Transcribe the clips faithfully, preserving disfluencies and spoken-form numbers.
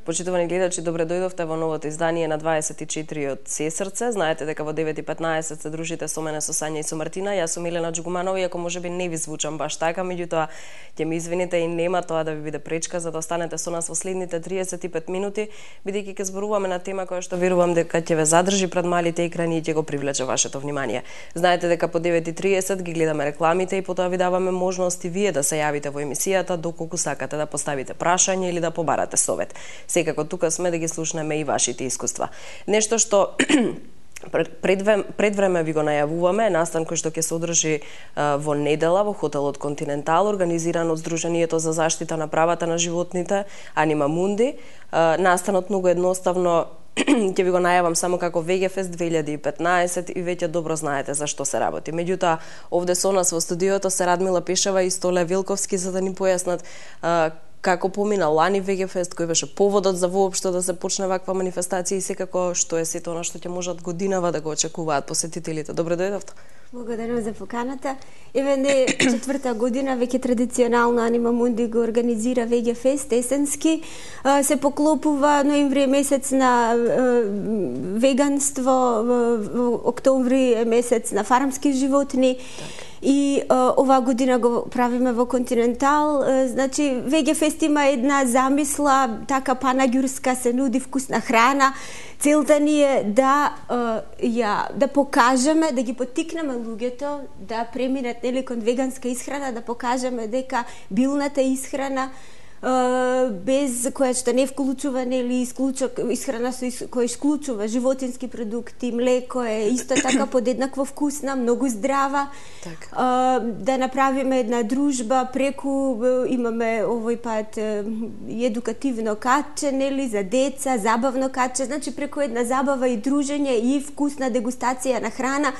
Почитувани гледачи, добре дојдовте во новото издание на дваесет и четири од Сесрце. Знаете дека во девет и петнаесет се дружите со мене, со Сања и со Мартина. Јас сум Милена Джугуманова, иако можеби не ви звучам баш така, меѓутоа ќе ми извините и нема тоа да ви биде пречка за да останете со нас во следните триесет и пет минути, бидејќи ќе зборуваме на тема која што верувам дека ќе ве задржи пред малите екрани и ќе го привлече вашето внимание. Знаете дека по девет и триесет ги гледаме рекламите и потоа ви даваме можност и вие да се јавите во емисијата доколку сакате да поставите прашање или да побарате совет. Секако тука сме да ги слушнеме и вашите искуства. Нешто што пред, пред време ви го најавуваме, настан кој што ќе се одржи а, во недела во хотелот Континентал, организиран од Сдруженијето за заштита на правата на животните Анима Мунди. А, настанот многу едноставно ќе ви го најавам само како Вегефест две илјади и петнаесет и веќе добро знаете за што се работи. Меѓутоа, овде со нас во студиото се Радмила Пешева и Столе Вилковски за да ни појаснат а, како помина лани Вегефест, кој беше поводот за воопшто да се почне ваква манифестација и секако што е сето она што ќе можат годинава да го очекуваат посетителите. Добре дојдовте. Благодарам за поканата. Еве не четврта година веќе традиционално Анима Мунди го организира Вегефест есенски. Се поклопува ноември месец на веганство, октомври е месец на фармски животни. Так. И а, оваа година го правиме во Континентал. А, значи, Вегефест има една замисла, така панагюрска, се нуди вкусна храна. Целта ни е да а, ја да покажеме, да ги поттикнеме луѓето да преминат нели кон веганска исхрана, да покажеме дека билната исхрана без која што не вклучува нели исклучок исхрана со која исклучува животински продукти, млеко е исто така подеднакво вкусна, многу здрава. Так. А, да направиме една дружба преку имаме овој пат и едукативно катче нели за деца, забавно катче, значи преку една забава и дружење и вкусна дегустација на храна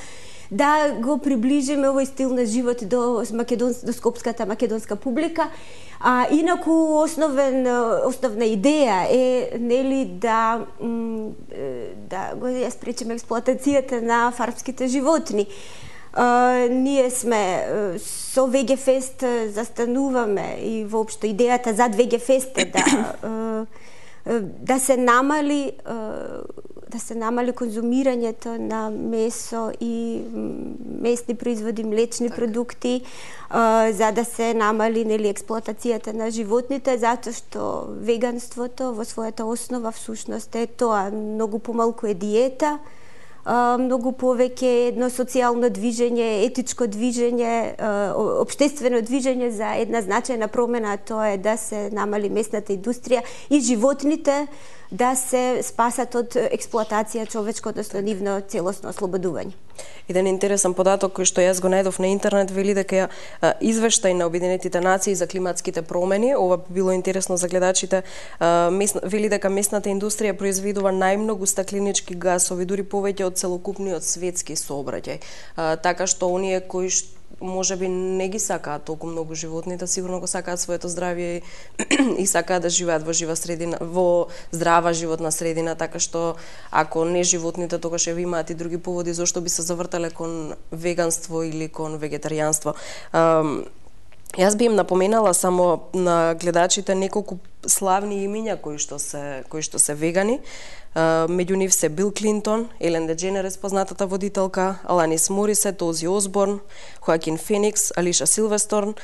да го приближиме овој стил на живот до македонс, до скопската македонска публика. А инаку основен основна идеја е нели да да го ја спречиме експлоатацијата на фармските животни. Uh, ние сме uh, со Вегефест uh, застануваме и воопшто идејата зад Вегефест е да uh, uh, да се намали uh, да се намали конзумирањето на месо и месни производи, млечни так. продукти, а, за да се намали нели експлоатацијата на животните, затоа што веганството во својата основа всушност е тоа, многу помалку е диета, а, многу повеќе едно социјално движење, етичко движење, а, општествено движење за една значајна промена, тоа е да се намали месната индустрија и животните да се спасат од експлоатација човечко, односно нивно целосно ослободување. Еден интересен податок кој што јас го најдов на интернет вели дека а, извештај на Обединетите нации за климатските промени, ова би било интересно за гледачите, а, месна, вели дека месната индустрија произведува најмногу стакленички гасови, дури повеќе од целокупниот светски сообраќај. А, така што оние кои што можеби не ги сакаат толку многу животните, сигурно го сакаат своето здравје и сакаат да живеат во жива средина, во здрава животна средина, така што ако не животните, тогаш еве имаат и други поводи зошто би се завртале кон веганство или кон вегетаријанство. Јас би им напоменала само на гледачите неколку славни имиња кои што се кои што се вегани. Uh, меѓу нив се Бил Клинтон, Елен Дедженерес, познатата водителка, Аланис Морисет, Ози Осборн, Хоакин Феникс, Алиша Силвесторн,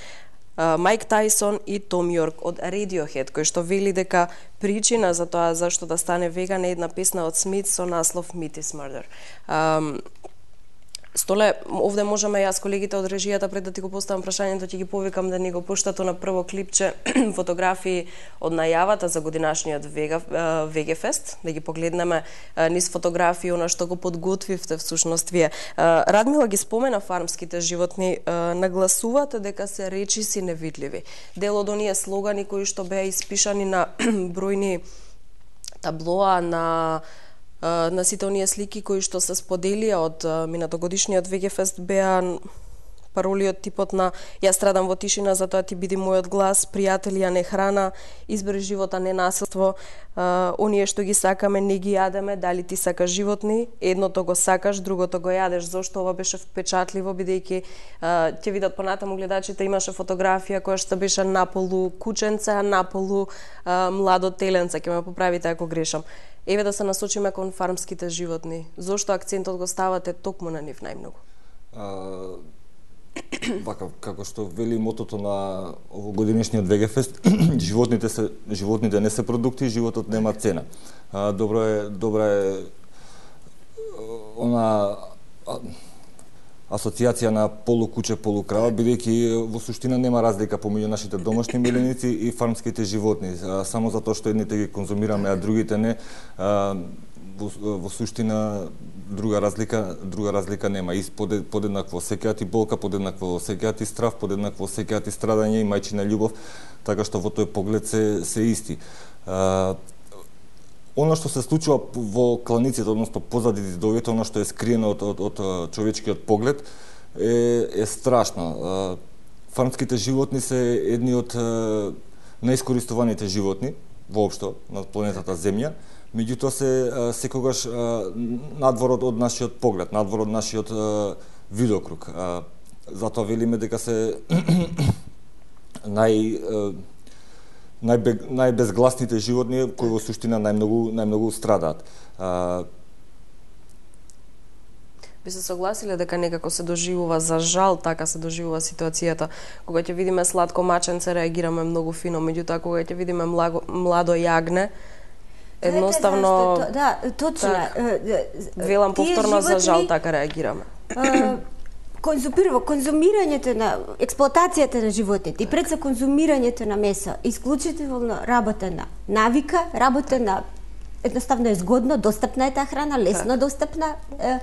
uh, Майк Тайсон и Том Йорк од Radiohead, кој што вели дека причина за тоа зашто да стане веган е една песна од Смит со наслов Meat is Murder. Um, Столе, овде можеме јас колегите од режијата пред да ти го поставам прашањето ќе ги повикам да ни го пуштат на прво клипче фотографии од најавата за годинашниот Вегефест, да ги погледнеме низ фотографии она што го подготвивте всушност вие. Радмила ги спомена фармските животни, нагласувате дека се речиси невидливи. Дел од оние слогани кои што беа испишани на бројни таблоа, на на сите оние слики кои што се споделија од минатогодишниот Вегефест беа пароли од типот на ја страдам во тишина, затоа ти биди мојот глас, пријатели, а не храна, избери живота, не насилство, а, оние што ги сакаме, не ги јадеме, дали ти сакаш животни, едното го сакаш, другото го јадеш. Зошто ова беше впечатливо, бидејќи ќе видат понатаму гледачите, имаше фотографија која што беше наполу кученца, наполу а, младо теленце, ќе ме поправите ако грешам. Еве да се насочиме кон фармските животни. Зошто акцентот го ставате токму на нив најмногу? А, вака, како што вели мотото на овогодинешниот Вегефест, животните се животните не се продукти, животот нема цена. А, добро е, добра е она а, асоциација на полукуче, полукрава, бидејќи во суштина нема разлика помеѓу нашите домашни миленици и фармските животни. А, само затоа што едните ги конзумираме, а другите не, а, во, во суштина друга разлика, друга разлика нема. И подеднакво осеќаат и болка, подеднакво осеќаат и страв, подеднакво осеќаат и страдање и мајчина љубов, така што во тој поглед се се исти. А, Оно што се случува во кланиците, односно позади зидовите, оно што е скриено од, од, од човечкиот поглед, е, е страшно. Фармските животни се едни од наискористуваните животни воопшто на планетата Земја, меѓутоа се секогаш надвор од, од нашиот поглед, надвор од нашиот видокруг. Затоа велиме дека се нај најбег, најбезгласните животни кои во суштина најмногу најмногу страдаат. А... Би се согласиле дека некако се доживува, за жал така се доживува ситуацијата. Кога ќе видиме сладко маченце реагираме многу фино, меѓутоа кога ќе видиме младо, младо јагне, едноставно Знаете, да, точно. Так, велам повторно, животни, за жал така реагираме. Конзумирано, конзумирањето на експлоатацијата на животните и пред се конзумирањето на месо, исклучително работа на навика, работа на едноставно е згодно, достапна е таа храна, лесно так. достапна, е,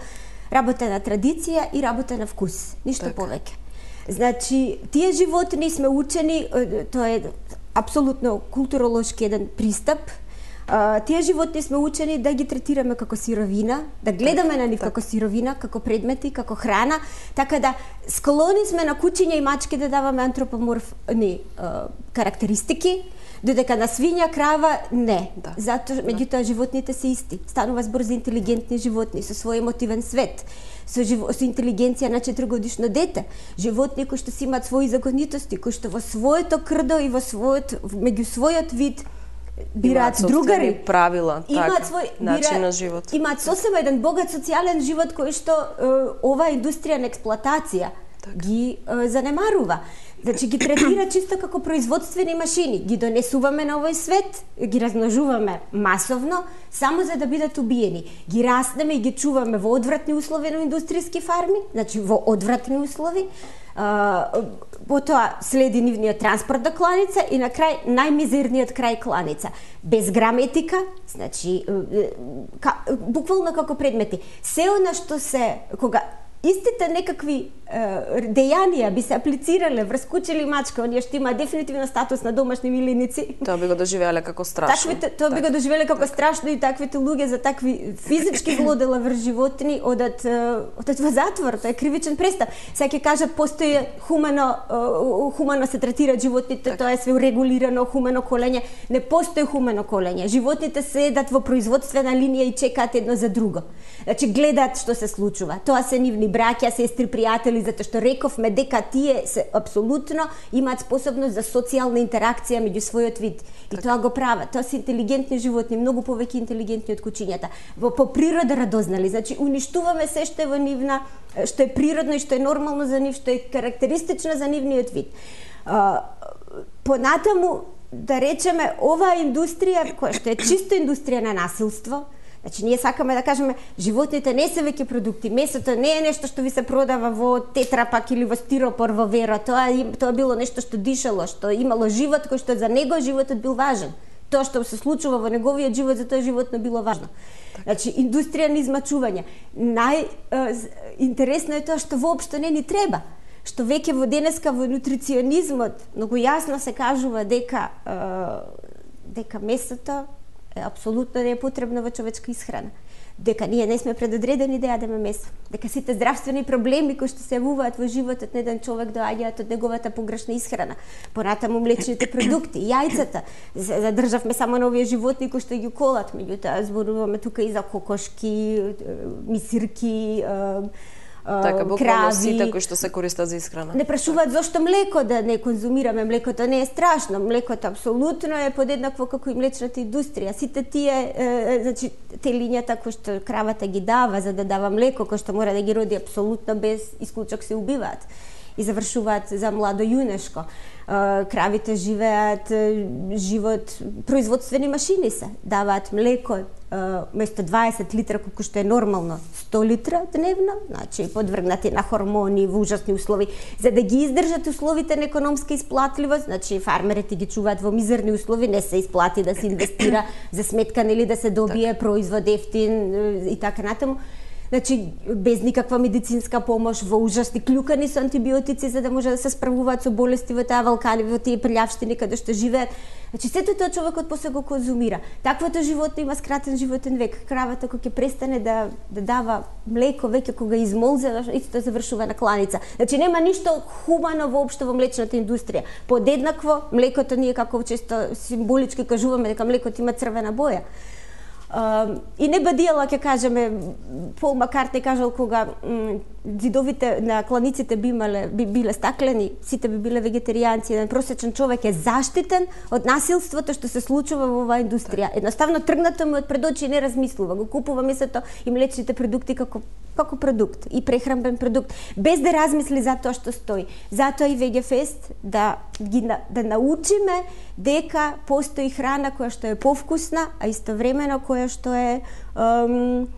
работа на традиција и работа на вкус, ништо так. повеќе. Значи, тие животни сме учени, тоа е апсолутно културолошки еден пристап. Uh, тие животни сме учени да ги третираме како сировина, да гледаме на нив так. како сировина, како предмети, како храна, така да склони сме на кучиња и мачки да даваме антропоморфни uh, карактеристики, додека на свиња, крава не. Да. Затоа меѓутоа животните се исти. Станува збор за интелигентни животни со свој емотивен свет, со, живо, со интелигенција на четиригодишно дете, животни кои што си имаат своји законитости, кои што во своето крдо и во својот меѓу својот вид бираат другари, правила, имаат така, свој начин бира, на живот. Имаат сосема еден богат социјален живот кој што е, ова индустрија на експлоатација так. ги е, занемарува. Значи ги третира чисто како производствени машини, ги донесуваме на овој свет, ги размножуваме масовно само за да бидат убиени. Ги раснеме и ги чуваме во одвратни услови на индустријски фарми, значи во одвратни услови. Uh, потоа следи нивниот транспорт до кланица и на крај најмизерниот крај кланица. Без граметика, значи ка, буквално како предмети. Се она што се кога истите некакви е, дејанија би се аплицирале врз куче или мачка, оние што има дефинитивно статус на домашни миленици. Тоа би го доживеале како страшно. Таквите, тоа так. би го доживеле како так. страшно и таквите луѓе за такви физички злодела врз животни одат одат во затвор, тоа е кривичен престап. Сега ќе кажат постои хумано хумано се третираат животните, так. тоа е све урегулирано, хумано колење, не постои хумано колење. Животните се едат во производствена линија и чекаат едно за друго. Значи гледаат што се случува. Тоа се нивни браќа, сестри, пријатели, затоа што рековме дека тие се апсолутно имаат способност за социјална интеракција меѓу својот вид. И так. тоа го прават. Тоа се интелигентни животни, многу повеќе интелигентни од кучињата. Во по природа радознали, значи уништуваме се што е во нивна, што е природно и што е нормално за нив, што е карактеристично за нивниот вид. А, понатаму да речеме оваа индустрија која што е чисто индустрија на насилство. Значи, ние сакаме да кажеме, животните не се веќе продукти, месото не е нешто што ви се продава во тетрапак или во стиропор во веро, тоа, тоа било нешто што дишало, што имало живот, кој што за него животот бил важен. Тоа што се случува во неговиот живот, за тоа животно било важно. Значи, индустрија на измачување. Најинтересно е тоа што воопшто не ни треба. Што веќе во денеска во нутриционизмот многу јасно се кажува дека дека месото е апсолутно не е потребно во човечка исхрана. дека ние не сме предодредени да јадеме месо, дека сите здравствени проблеми кои што се јавуваат во животот на еден човек доаѓаат од неговата погрешна исхрана. Понатаму млечните продукти, јајцата, задржавме само на овие животни кои што ги колат, меѓутоа зборуваме тука и за кокошки, мисирки, така, буквално сите кои што се користат за исхрана. Не прашуваат зошто млеко да не конзумираме, млекото не е страшно, млекото апсолутно е подеднакво како и млечната индустрија. Сите тие, е, значи, те лињата кои што кравата ги дава за да дава млеко, кои што мора да ги роди апсолутно без исклучок се убиваат и завршуваат за младо јунешко. Кравите живеат живот, производствени машини се, даваат млеко, место дваесет литра колку што е нормално, сто литра дневно, значи подвргнати на хормони во ужасни услови, за да ги издржат условите на економска исплатливост, значи фармерите ги чуваат во мизерни услови, не се исплати да се инвестира за сметка нели да се добие производ ефтин и така натаму. Значи, без никаква медицинска помош, во ужасни клюкани со антибиотици за да може да се справуваат со болести во таа валкани, во тие прљавштини каде што живеат. Значи, сето тоа човекот после го конзумира. Таквото животно има скратен животен век. Кравата кога ќе престане да, да дава млеко, веќе кога измолзе, исто завршува на кланица. Значи, нема ништо хумано воопшто во млечната индустрија. Подеднакво, млекото ние како често символички кажуваме дека млекото има црвена боја. Uh, и не бадијала, ќе кажеме, Пол Маккартни кажал кога зидовите на кланиците би, имале, би биле стаклени, сите би биле вегетаријанци, еден просечен човек е заштитен од насилството што се случува во оваа индустрија. Едноставно тргнато му од пред очи не размислува, го купува месото и млечните продукти како како продукт и прехранбен продукт, без да размисли за тоа што стои. Затоа и Вегефест да ги да научиме дека постои храна која што е повкусна, а истовремено која што е um,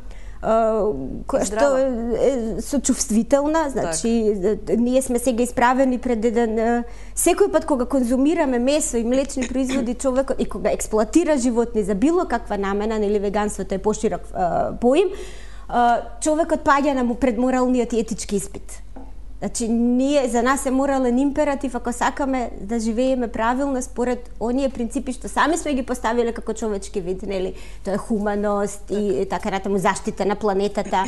која што е сочувствителна, значи так. Ние сме сега исправени пред еден секој пат кога конзумираме месо и млечни производи, човекот и кога експлоатира животни за било каква намена, нели веганството е поширок поим, човекот паѓа на му пред моралниот и етички испит. Значи, ние, за нас е морален императив, ако сакаме да живееме правилно според оние принципи што сами сме ги поставиле како човечки вид, нели? Тоа е хуманост и така натаму заштита на планетата.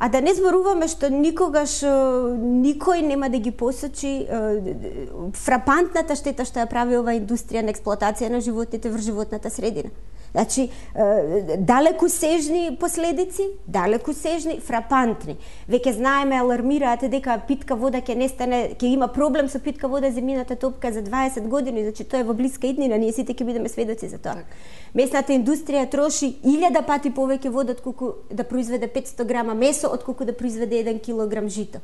А да не зборуваме што никогаш никој нема да ги посочи фрапантната штета што ја прави оваа индустрија на експлоатација на животните врз животната средина. Значи, далеку сежни последици, далеку сежни, фрапантни. Веќе знаеме, алармираат дека питка вода ќе нестане, ќе има проблем со питка вода земјината топка за дваесет години, значи тоа е во блиска иднина, ние сите ќе бидеме сведоци за тоа. Так. Месната индустрија троши илјада пати повеќе вода отколку да произведе петсто грама месо, отколку да произведе еден килограм жито.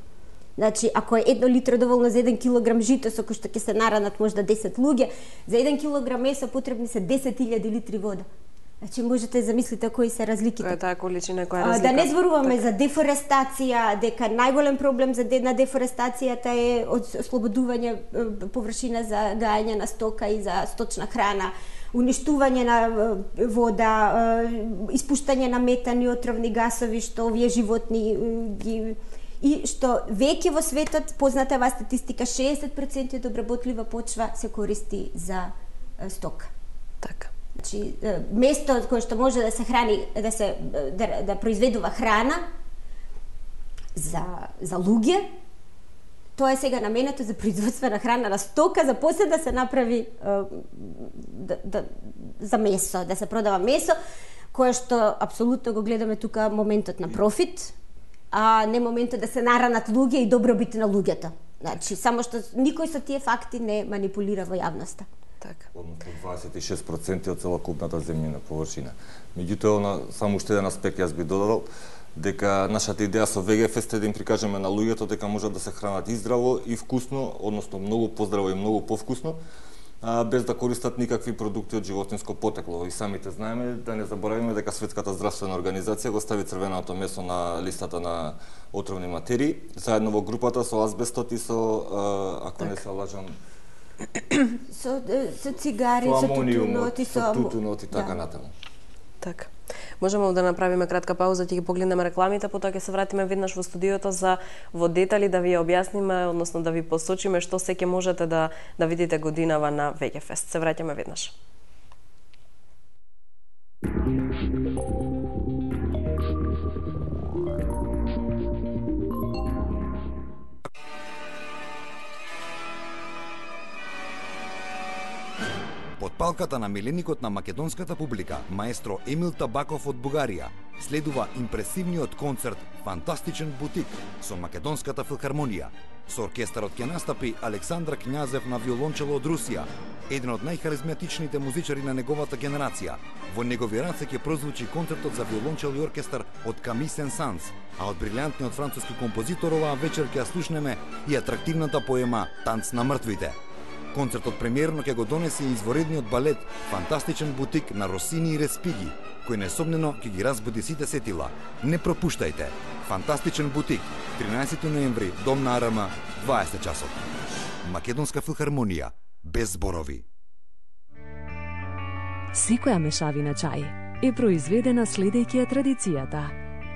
Значи, ако е едно литро доволно за еден килограм жито, со кој што ќе се наранат можда десет луѓе, за еден килограм месо потребни се десет илјади литри вода. Значи, можете да замислите кои се разликите. Која е таа количина, која е разлика? Да не зборуваме за дефорестација, дека најголем проблем за на дефорестацијата е ослободување површина за гајање на стока и за сточна храна, уништување на вода, испуштање на метани отровни гасови што овие животни ги и што веќе во светот позната ова статистика шеесет проценти од обработлива почва се користи за стока. Така. Значи место кое што може да се храни, да се да, да произведува храна за за луѓе, тоа е сега наменето за производство на храна на стока, за после да се направи да, да, за месо, да се продава месо, кое што апсолутно го гледаме тука моментот на профит, а не моментот да се наранат луѓе и добробит на луѓето. Значи, само што никој со тие факти не манипулира во јавноста. Така. Односно дваесет и шест проценти од целокупната земјина површина. Меѓутоа, на само уште еден аспект јас би додадал, дека нашата идеја со Вегефест е да им прикажеме на луѓето дека можат да се хранат и здраво и вкусно, односно многу поздраво и многу повкусно, а, без да користат никакви продукти од животинско потекло. И самите знаеме, да не заборавиме дека Светската здравствена организација го стави црвеното месо на листата на отровни материи, заедно во групата со азбестот и со, а, ако так. не се лажам, со, со цигари, со тутунот и со тутунот и така да. натаму. Така. Можеме да направиме кратка пауза, ќе ги погледнеме рекламите, потоа ќе се вратиме веднаш во студиото за во детали да ви ја објасниме, односно да ви посочиме што се ќе можете да да видите годинава на Вегефест. Се враќаме веднаш. Под палката на миленикот на македонската публика, маестро Емил Табаков од Бугарија, следува импресивниот концерт Фантастичен бутик со Македонската филхармонија. Со оркестарот ќе настапи Александр Књазев на виолончело од Русија, еден од најхаризматичните музичари на неговата генерација. Во негови раце ќе прозвучи концертот за виолончел и оркестар од Камис Сен-Санс, а од брилјантниот француски композитор оваа вечер ќе ја слушнеме и атрактивната поема Танц на мртвите. Концертот премиерно ќе го донесе и изворедниот балет Фантастичен бутик на Росини и Респиги, кој несомнено ќе ги разбуди сите сетила. Не пропуштајте! Фантастичен бутик, тринаесети ноември, Дом на АРМ, дваесет часот. Македонска филхармонија, без зборови. Секоја мешавина чај е произведена следејќи ја традицијата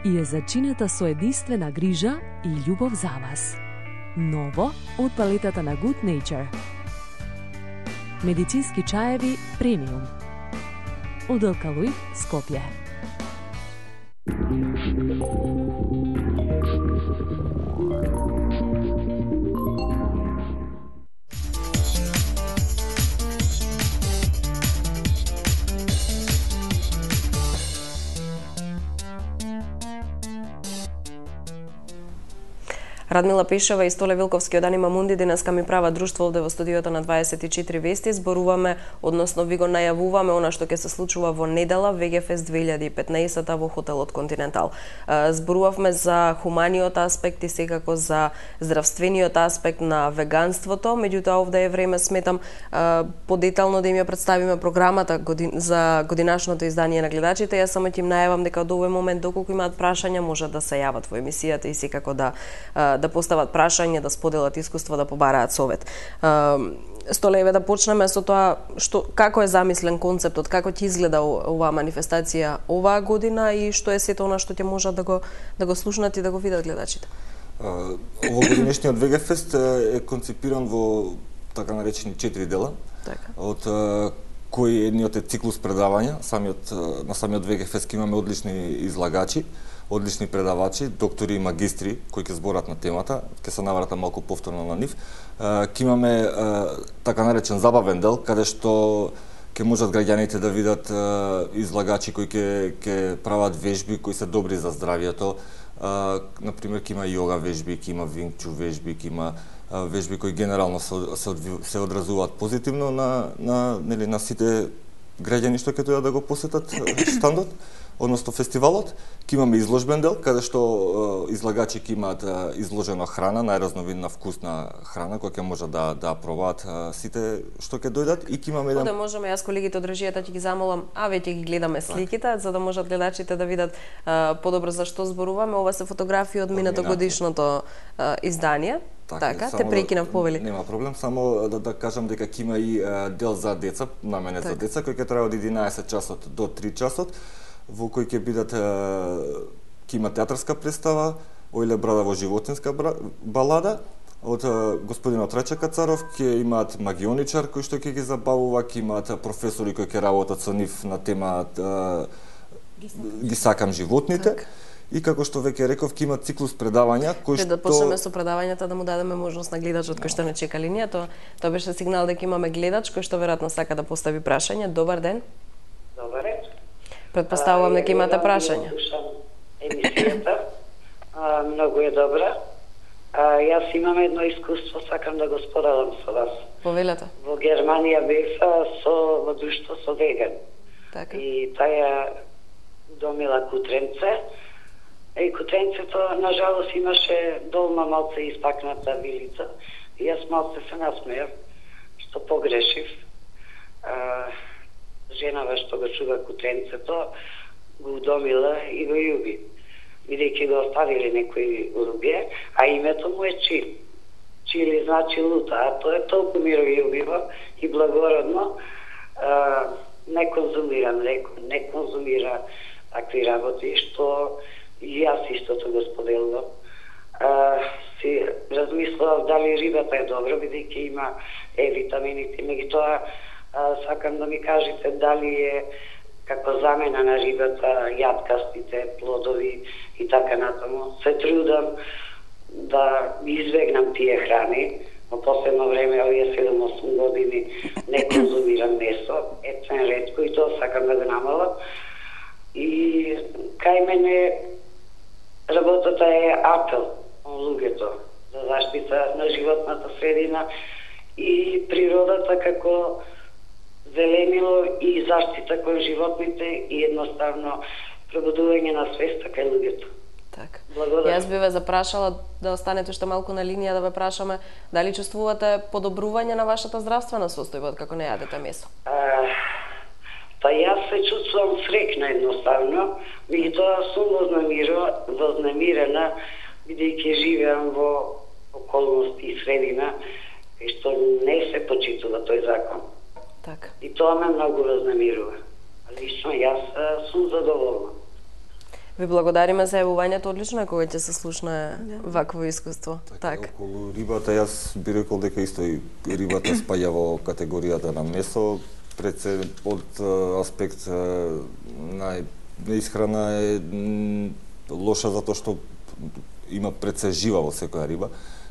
и е зачинета со единствена грижа и љубов за вас. Ново од палетата на Good Nature. Медицински чаеви премиум. Од Алкалоид, Скопје. Радмила Пешева и Столе Вилковски од Анима Мунди денеска ми прават друштво овде во студиото на дваесет и четири вести. Зборуваме, односно ви го најавуваме она што ќе се случува во недела Вегефест две илјади и петнаесета во хотелот Континентал. Зборувавме за хуманиот аспект и секако за здравствениот аспект на веганството, меѓутоа овде е време, сметам, подетално да им ја представиме програмата за годинашното издание на гледачите. Јас само ќе им најавам дека до овој момент, доколку имаат прашања, можат да се јават во емисијата и секако да да постават прашање, да споделат искуство, да побараат совет. Столе, еве да почнеме со тоа што како е замислен концептот, како ќе изгледа оваа манифестација оваа година и што е сето она што ќе можат да го да го слушнат и да го видат гледачите. Ово годинешниот Вегефест е концепиран во така наречени четири дела. Така. Од кои едниот е циклус предавања, самиот на самиот Вегефест имаме одлични излагачи, одлични предавачи, доктори и магистри кои ќе зборат на темата, ќе се навратам малку повторно на нив. Ќе имаме така наречен забавен дел, каде што ќе можат граѓаните да видат излагачи кои ќе ќе прават вежби кои се добри за здравјето. На пример, ќе има йога вежби, ќе има винг чу вежби, ќе има вежби кои генерално се се, се одразуваат позитивно на на нели на сите граѓани што ќе дојдат да го посетат штандот, односно фестивалот. Ќе имаме изложбен дел, каде што излагачи ќе имаат изложена храна, најразновидна вкусна храна, која ќе можат да да пробаат сите што ќе дојдат, и ќе имаме еден... Да можеме, јас колегите од режијата ќе ги замолам, а веќе ги гледаме сликите, за да можат гледачите да видат а, подобро за што зборуваме. Ова се фотографии од минато годишното а, издание. Така, така те прекинав, повели. Нема проблем, само да, да кажам дека ќе има и а, дел за деца, наменет за деца, кој ќе трае од единаесет часот до три часот, во кој ќе бидат ќе има театарска представа Ојле брада во животинска балада од господинот Раче Кацаров, ќе имаат магионичар кој што ќе ги забавува, ќе имаат професори кои ќе работат со нив на тема ги сакам животните. Так. И како што веќе реков, ќе има циклус предавања кои што... Пред да почнеме со предавањата, да му дадеме можност на гледачот кој што не чека линија, тоа тоа беше сигнал дека имаме гледач кој што веројатно сака да постави прашање. Добар ден. Добар ден. Предпоставувам дека имате прашање. Емисијата многу е добра. А, јас имам едно искуство, сакам да го споделам со вас. Повелете. Во Германија бев со во друштво со веган. Така. И таја домила кутренце. И кутренцето, на жалост, имаше долма малце испакната вилица. И јас малце се насмејав, што погрешив. А, женава што го чува кутренцето, го удомила и го јуби. Бидејќи го оставили некои луѓе, а името му е Чил. Чили значи лута, а тоа е толку мирољубиво и благородно. А, не конзумира млеко, не конзумира такви работи, што и јас истото го споделувам. Си размислував дали рибата е добра, бидејќи има е витамините. Меѓутоа, сакам да ми кажете дали е како замена на рибата, јаткастите, плодови и така натаму. Се трудам да избегнам тие храни, но последно време, овие седум осум години, не конзумирам конзумирам месо, ецен ретко и тоа сакам да го намалам. И кај мене работата е апел на луѓето за заштита на животната средина и природата како зеленило и заштита кон животните и едноставно пробудување на свеста кај луѓето. Така. Благодарам. Јас би ве запрашала да останете уште малку на линија да ве прашаме дали чувствувате подобрување на вашата здравствена состојба како не јадете месо? А, па јас се чувствувам срекна едноставно, меѓутоа сум вознемирена, вознемирена бидејќи живеам во околности и средина и што не се почитува тој закон. Така. И тоа ме многу вознемирува. Лично јас а, сум задоволна. Ви благодариме за јавувањето, одлично е кога ќе се слушне вакво искуство. Така, Так. околу рибата, јас би рекол дека исто и рибата спаја во категоријата на месо, пред се од аспект на исхрана е м, лоша затоа што има пред се жива во секоја риба.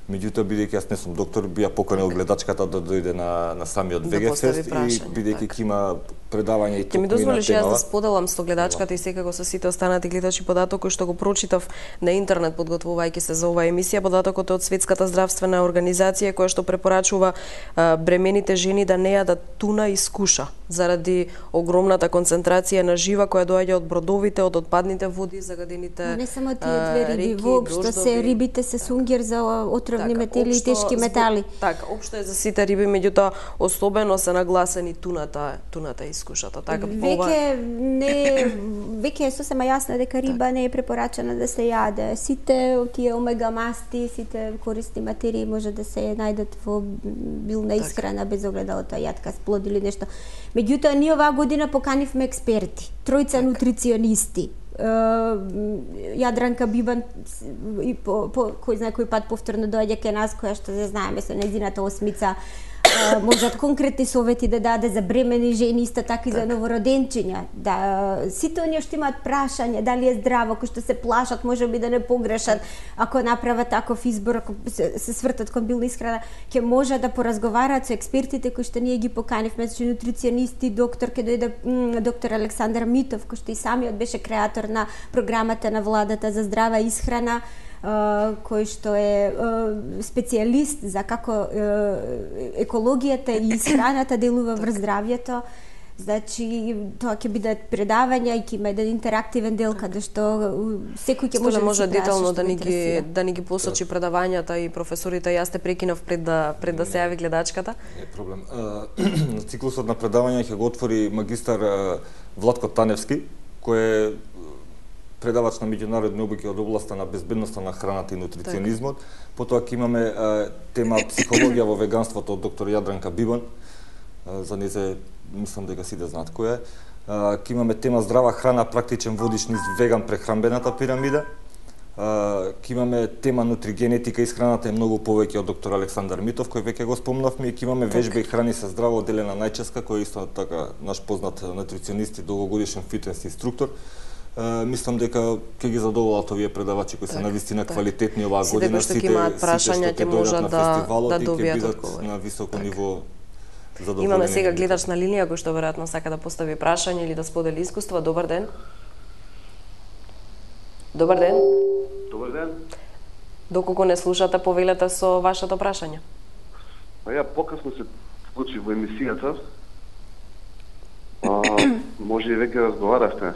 Меѓутоа, бидејќи јас не сум доктор, би ја поканил гледачката да дојде на, на самиот Да Веге постави Фест и прашање, бидејќи така. ќе има предавање и Ќе ми токму и на дозволиш јас темава. да споделам со гледачката и секако со сите останати гледачи податок кој што го прочитав на интернет подготвувајќи се за оваа емисија. Податокот е од Светската здравствена организација која што препорачува а, бремените жени да не јадат туна и скуша заради огромната концентрација на жива која доаѓа од бродовите, од отпадните води, загадените Не само тие а, две риби, реки, воопшто се дождови. рибите се сунгер за отровни метали и општо тешки збор- метали. Така, општо е за сите риби, меѓутоа особено се нагласени туната, туната и скушата. Така, ова- Веќе не веќе е сосема јасно дека риба не е препорачена да се јаде. Сите тие омега масти, сите корисни материи може да се најдат во билна исхрана без огледало тоа јатка с плод или нешто. Меѓутоа ние оваа година поканивме експерти, тројца нутриционисти. Јадранка Бибан и по, по кој знае кој пат повторно доаѓа кај нас, која што се знаеме со нејзината осмица, можат конкретни совети да даде за бремени жени, исто така и за новороденчиња. Да, сите оние што имаат прашање, дали е здраво, кои што се плашат, може би да не погрешат, ако направат таков избор, ако се, се свртат кон билна исхрана, ќе може да поразговараат со експертите кои што ние ги поканивме, значи нутриционисти, доктор, ке дојде м, доктор Александар Митов, кој што и самиот беше креатор на програмата на владата за здрава исхрана, Uh, кој што е uh, специјалист за како uh, екологијата и исхраната делува врз здравјето. Значи, тоа ќе биде предавања и ќе има еден интерактивен дел каде што секој ќе може, може да се детално праша да што ни го ги интересира. да ни ги посочи предавањата и професорите. Јас те прекинав пред да пред да се јави гледачката. Не е проблем. На циклусот на предавања ќе го отвори магистар Владко Таневски, кој е предавач на меѓународни обуки од областа на безбедноста на храната и нутриционизмот. Потоа ќе имаме а, тема психологија во веганството од доктор Јадранка Бибан. А, за незе мислам дека сите знаат кој е. А, ќе имаме тема здрава храна, практичен водич низ веган прехранбената пирамида. А, ќе имаме тема нутригенетика и храната е многу повеќе од доктор Александар Митов, кој веќе го спомнавме, и ќе имаме вежба и храни се здраво од Елена Најческа, кој е исто така наш познат нутриционист и долгогодишен фитнес инструктор. Uh, мислам дека ќе ги задоволат овие предавачи кои се навистина так. квалитетни оваа Сите година, кои што ќе имаат прашања ќе можат да да добијат одговор. на високо Так. ниво задоволени. Имаме сега гледач на линија кој што веројатно сака да постави прашање или да сподели искуства. Добар ден. Добар ден. Добар ден. Доколку не слушате, повелете со вашето прашање. Па ја покасно се вклучив во емисијата. А, може и веќе разговаравте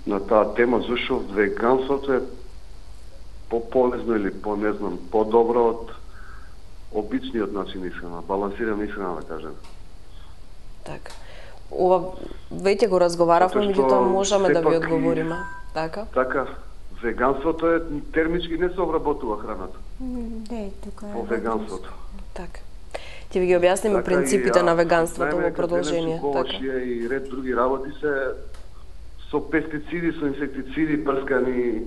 на таа тема, зашто веганството е по-полезно или по, не знам, по-добро од обичниот начин исхрана, балансирана исхрана, да кажем. Така. Ова веќе го разговаравме, Затоа што меѓутоа можеме да ви сепак одговориме. Така? Така, веганството е термички не се обработува храната Не, тука во е. веганството. Така. Ќе ви ги објасниме Така принципите и, на а, веганството знаеме, во продолжение. Така. Така. И ред други работи се со пестициди, со инсектициди прскани,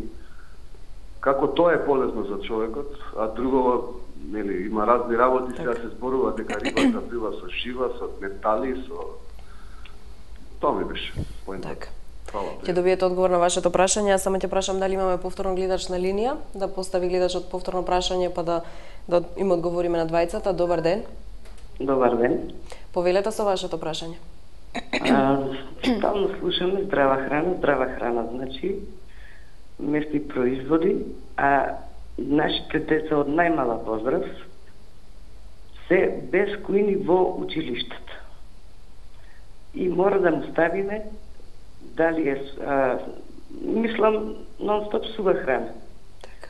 како тоа е полезно за човекот, а друго, нели, има разни работи, сега се зборува дека рибата била со жива, со метали, со... Тоа ми беше поентата. Така. Фала. Ќе добиете одговор на вашето прашање. Јас само ќе прашам дали имаме повторно гледач на линија, да постави гледачот повторно прашање па да да им одговориме на двајцата. Добар ден. Добар ден. Повелете со вашето прашање. Стално слушаме здрава храна, здрава храна, значи местни производи, а нашите деца од најмала возраст се без коини во училиштата. И мора да му ставиме дали е, а, мислам, нон-стоп сува храна.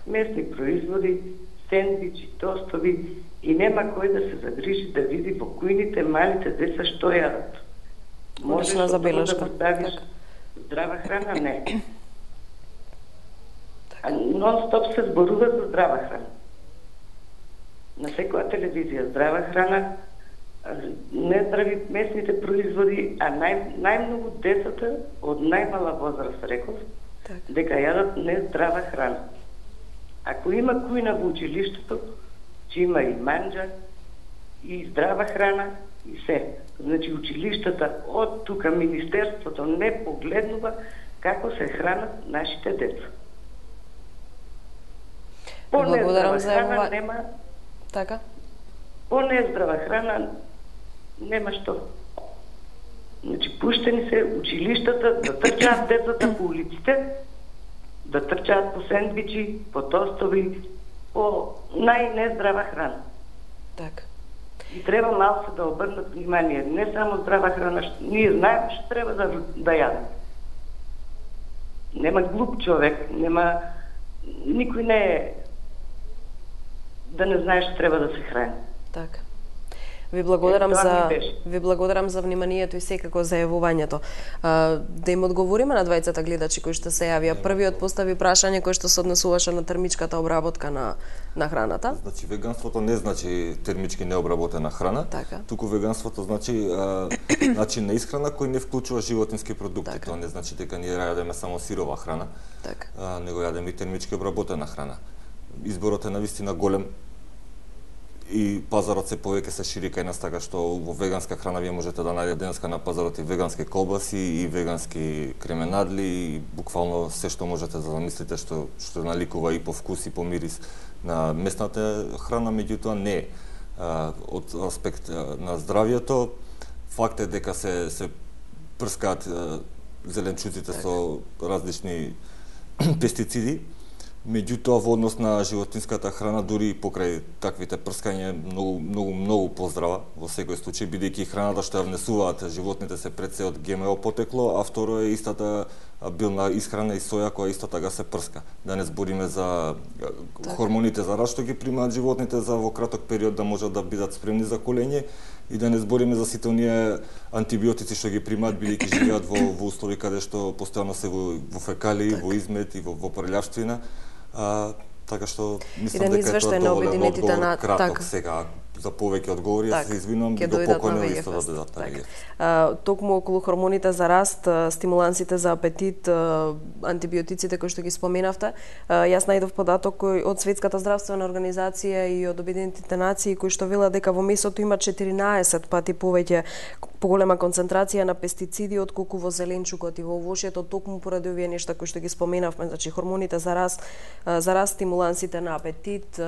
Местни производи, сендвичи, тостови и нема кој да се загрижи да види во коините малите деца што јадат. Можеш да забелешка. Да ставиш здрава храна? Не. А нон-стоп се зборува за здрава храна. На секоја телевизија здрава храна, не здрави местните производи, а нај, најмногу децата од најмала возраст, реков, так, дека јадат нездрава храна. Ако има кујна во училиштето, ќе има и манџа, и здрава храна, и се. Значи, училиштата од тука Министерството не погледнува како се хранат нашите деца. Благодарам за храна нема... Така? По-нездрава храна нема што. Значи, пуштени се училиштата да трчаат децата по улиците, да трчаат по сендвичи, по тостови, по најнездрава храна. Така. И треба малку да обрнат внимание. Не само здрава храна, што ние знаеме што треба да, да јадеме. Нема глуп човек, нема... Никој не е да не знае што треба да се храни. Така. Ви благодарам за ви благодарам за вниманието и секако за јавувањето. Да им одговориме на двајцата гледачи кои што се јавија. Првиот постави прашање кој што се однесуваше на термичката обработка на на храната. Значи веганството не значи термички необработена храна. Така. Туку веганството значи а, начин на исхрана кој не вклучува животински продукти. Така. Тоа не значи дека ние јадеме само сирова храна. Така. А, него јадеме и термички обработена храна. Изборот е навистина голем. И пазарот се повеќе се шири кај нас, така што во веганска храна вие можете да најдете денеска на пазарот и вегански колбаси, и вегански кременадли, и буквално се што можете да замислите што што наликува и по вкус и по мирис на местната храна, меѓутоа не е. Од аспект на здравјето, факт е дека се се прскаат зеленчуците со различни пестициди. Меѓутоа, во однос на животинската храна, дури и покрај таквите прскања е многу, многу, многу поздрава во секој случај, бидејќи храната што ја внесуваат животните се пред се од ГМО потекло, а второ е истата билна исхрана и соја која исто така се прска. Да не збориме за так. хормоните за раст што ги примаат животните за во краток период да можат да бидат спремни за колење, и да не збориме за сите оние антибиотици што ги примаат бидејќи живеат во, во услови каде што постојано се во, во фекалии, так. во измет и во, во прљавштвина. А, така што мислам дека е тоа доволен одговор, на... краток така. Сега за повеќе одговори, јас се извинувам, би го поканил исто да дадат. Така. Токму околу хормоните за раст, стимулансите за апетит, антибиотиците кои што ги споменавте, јас најдов податок кој од Светската здравствена организација и од Обединетите нации кои што велат дека во месото има четиринаесет пати повеќе поголема концентрација на пестициди отколку во зеленчукот и во овошјето, токму поради овие нешта кои што ги споменавме, значи хормоните за раст, за раст, стимулансите на апетит,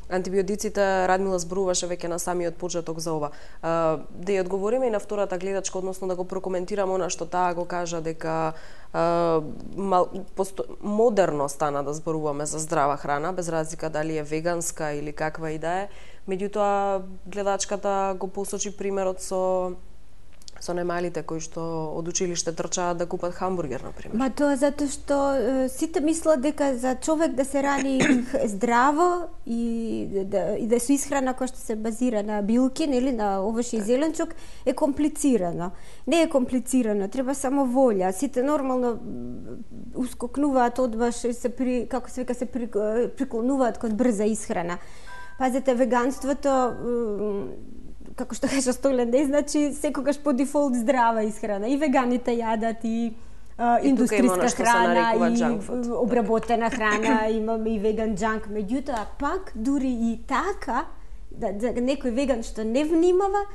антибиотиците. Радмила зборуваше веќе на самиот почеток за ова. Да ја одговориме и на втората гледачка, односно да го прокоментираме она што таа го кажа дека мал, посто, модерно стана да зборуваме за здрава храна, без разлика дали е веганска или каква и да е. Меѓутоа, гледачката го посочи примерот со со најмалите кои што од училиште трчаат да купат хамбургер, например. Ма тоа затоа што е, сите мислат дека за човек да се рани здраво и да, и да се исхрана која што се базира на билки, нели, на овош и зеленчук, е комплицирано. Не е комплицирано, треба само волја. Сите нормално ускокнуваат одбаш и се при, како се вика, се при, приклонуваат кон брза исхрана. Пазете, веганството, како што кажа Стојле, не значи секогаш по дефолт здрава исхрана. И веганите јадат и а, и индустријска храна, и обработена храна, имаме и веган джанк. Меѓутоа, пак, дури и така, да, да некој веган што не внимава,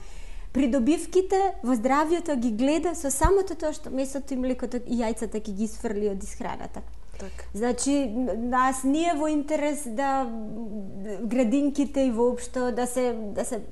придобивките во здравјето ги гледа со самото тоа што месото и млекото и јајцата ќе ги сфрли од исхраната. Так. Значи, нас не е во интерес да градинките и воопшто да се да се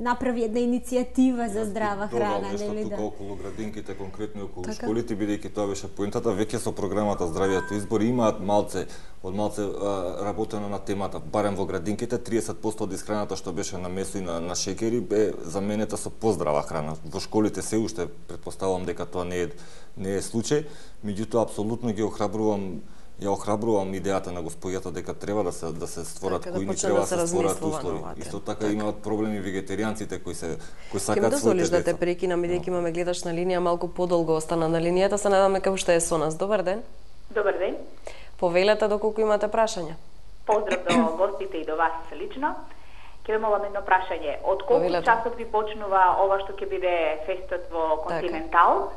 направи една иницијатива за здрава храна, нели да? Тука околу градинките, конкретно околу така? Школите, бидејќи тоа беше поентата, веќе со програмата Здравието избор имаат малце од малце а, работено на темата, барем во градинките, триесет проценти од исхраната што беше на месо и на, на шеќери бе заменета со поздрава храна. Во школите се уште претпоставувам дека тоа не е не е случај, меѓутоа апсолутно ги охрабрувам ја охрабрувам идејата на господјата дека треба да се да се створат така, кои да треба да се створат услови. Исто така така имаат проблеми вегетаријанците кои се кои сакаат своите деца. Ке ме дозволиш да те прекинам бидејќи имаме гледаш на линија, малку подолго остана на линијата, се надаме како што е со нас. Добар ден. Добар ден. Повелете доколку имате прашања. Поздрав до гостите и до вас лично. Ќе имам едно прашање. Од колку часот ви почнува ова што ќе биде фестот во Континентал?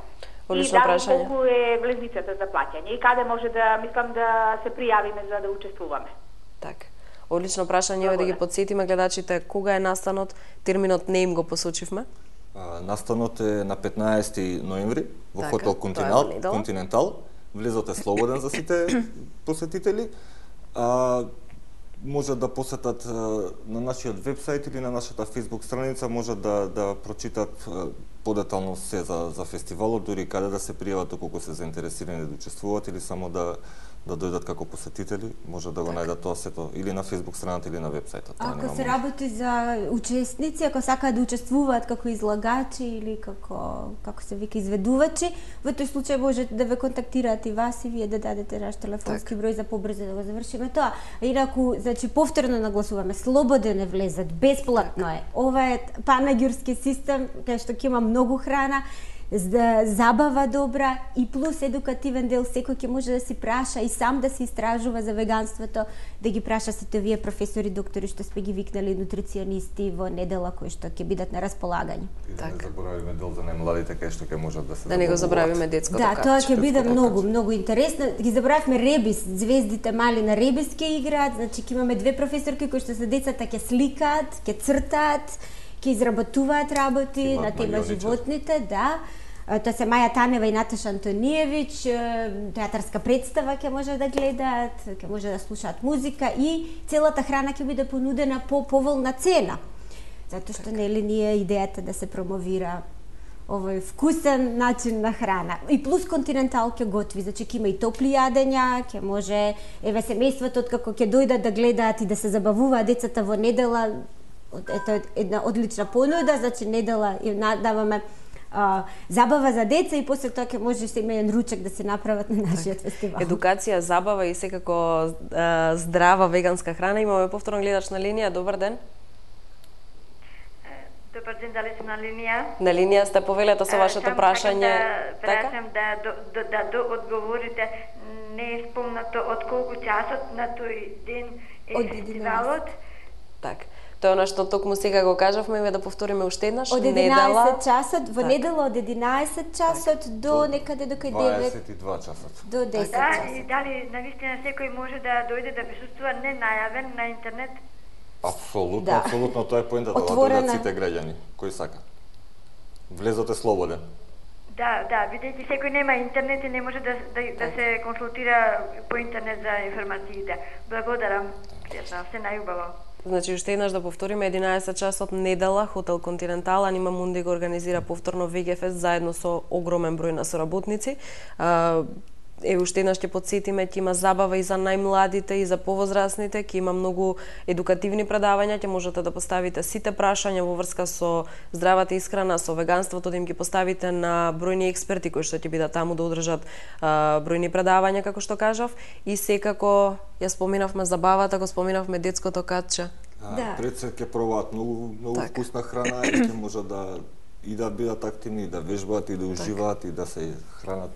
Одлично и дали прашање. колку е влезницата за плаќање и каде може да, мислам, да се пријавиме за да учествуваме? Така. Одлично прашање, еве да ги подсетиме гледачите кога е настанот, терминот не им го посочивме. А, настанот е на петнаесети ноември во така, хотел Континентал, Континентал. Влезот е слободен за сите посетители. А, може да посетат на нашиот вебсайт или на нашата фејсбук страница, може да да прочитат подетално се за за фестивалот, дури каде да се пријават доколку се заинтересирани да учествуваат или само да да дојдат како посетители, може да го најдат тоа сето или на фејсбук страната или на вебсајтот. Ако се работи за учесници, ако сакаат да учествуваат како излагачи или како како се вика изведувачи, во тој случај можете да ве контактираат и вас и вие да дадете наш телефонски број за побрзо да го завршиме тоа. А инаку, значи повторно нагласуваме, слободен е влезот, бесплатно е. Ова е панагюрски систем кај што ќе има многу храна, забава добра и плюс едукативен дел, секој ќе може да си праша и сам да се истражува за веганството, да ги праша сите вие професори, доктори што сме ги викнали, нутриционисти во недела кои што ќе бидат на располагање. И да не заборавиме дел за најмладите кај што ќе можат да се да не го забравиме детското да, каче. Да, тоа ќе биде многу, многу интересно. Ги забравивме ребис, звездите мали на ребис ќе играат, значи ќе имаме две професорки кои што се децата ќе сликаат, ќе цртаат, ќе изработуваат работи на тема животните, да. Тоа се Маја Танева и Наташа Антониевич, театарска представа ќе може да гледаат, ќе може да слушаат музика и целата храна ќе биде понудена по поволна цена. Затоа што нели ние идејата да се промовира овој вкусен начин на храна. И плюс Континентал ќе готви, значи ќе има и топли јадења, ќе може еве семејството откако ќе дојдат да гледаат и да се забавуваат децата во недела. Ето една одлична понуда, значи недела и даваме а, забава за деца и после тоа ќе може семеен ручек да се направат на нашиот фестивал. Едукација, забава и секако а, здрава веганска храна. Имаме повторно гледач на линија. Добар ден. Добар ден, дали сум на линија? На линија сте, повелете со вашето прашање. Да прашам да до, до, да до одговорите, не е спомнато од колку часот на тој ден е фестивалот? Така. Тоа е она што токму сега го кажавме, и да повториме уште еднаш. Од единаесет часот, во недела од единаесет часот до некаде до кај девет. дваесет и два часот. До десет да, часот. И дали навистина секој може да дојде да присуствува ненајавен на интернет? Апсолутно, да. апсолутно, тоа е поентата, да дојдат сите граѓани кои сака. Влезот е слободен. Да, да, бидејќи секој нема интернет и не може да, да, да се консултира по интернет за информациите. Благодарам, пријатно, се најубаво. Значи, уште еднаш да повториме, единаесет часот недела, Хотел Континентал, Анима Мунди го организира повторно ВГФест заедно со огромен број на соработници. Е, уште еднаш ќе подсетиме, ќе има забава и за најмладите и за повозрасните, ќе има многу едукативни предавања, ќе можете да поставите сите прашања во врска со здравата исхрана, со веганството, да им ги поставите на бројни експерти кои што ќе бидат таму да одржат а, бројни предавања, како што кажав, и секако ја споминавме забавата, го споминавме детското катче. Да. Пред се ќе пробаат многу, многу так. вкусна храна и ќе може да и да бидат активни, и да вежбаат, и да уживаат, так. и да се хранат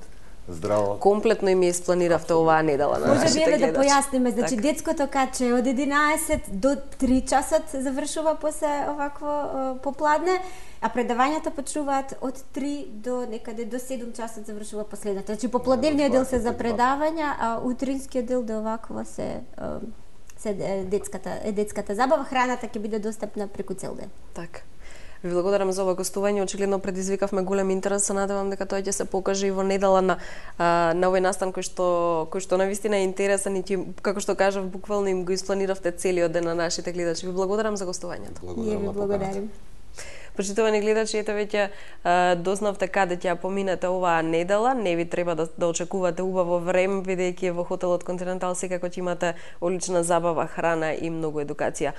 здраво. Комплетно им ја испланиравте оваа недела на нашите гледачи. Може би да појасниме, значи так. детското каче од единаесет до три часот завршува после овакво попладне, а предавањата почнуваат од три до некаде до седум часот завршува последната. Значи попладневниот дел се за предавања, а утринскиот дел до овакво се се детската детската забава, храната ќе биде достапна преку цел ден. Така. Ви благодарам за ова гостување, очигледно предизвикавме голем интерес, се надевам дека тоа ќе се покаже и во недела на а, на овој настан кој што кој што навистина е интересен и ќе, како што кажав, буквално им го испланиравте целиот ден на нашите гледачи. Ви благодарам за гостувањето. Ние ви благодарим. Почитувани гледачи, ете веќе дознавте каде ќе поминете оваа недела. Не ви треба да, да очекувате убаво време, бидејќи во хотелот Континентал секако ќе имате одлична забава, храна и многу едукација.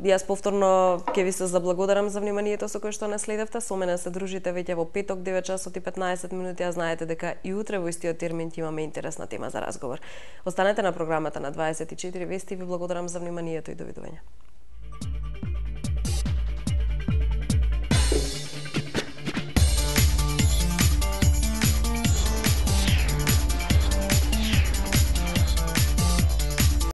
Јас повторно ќе ви се заблагодарам за вниманието со кое што не следевте. Со мене се дружите веќе во петок девет часот и петнаесет минути, а знаете дека и утре во истиот термин ќе имаме интересна тема за разговор. Останете на програмата на дваесет и четири Вести. Ви благодарам за вниманието и довидување.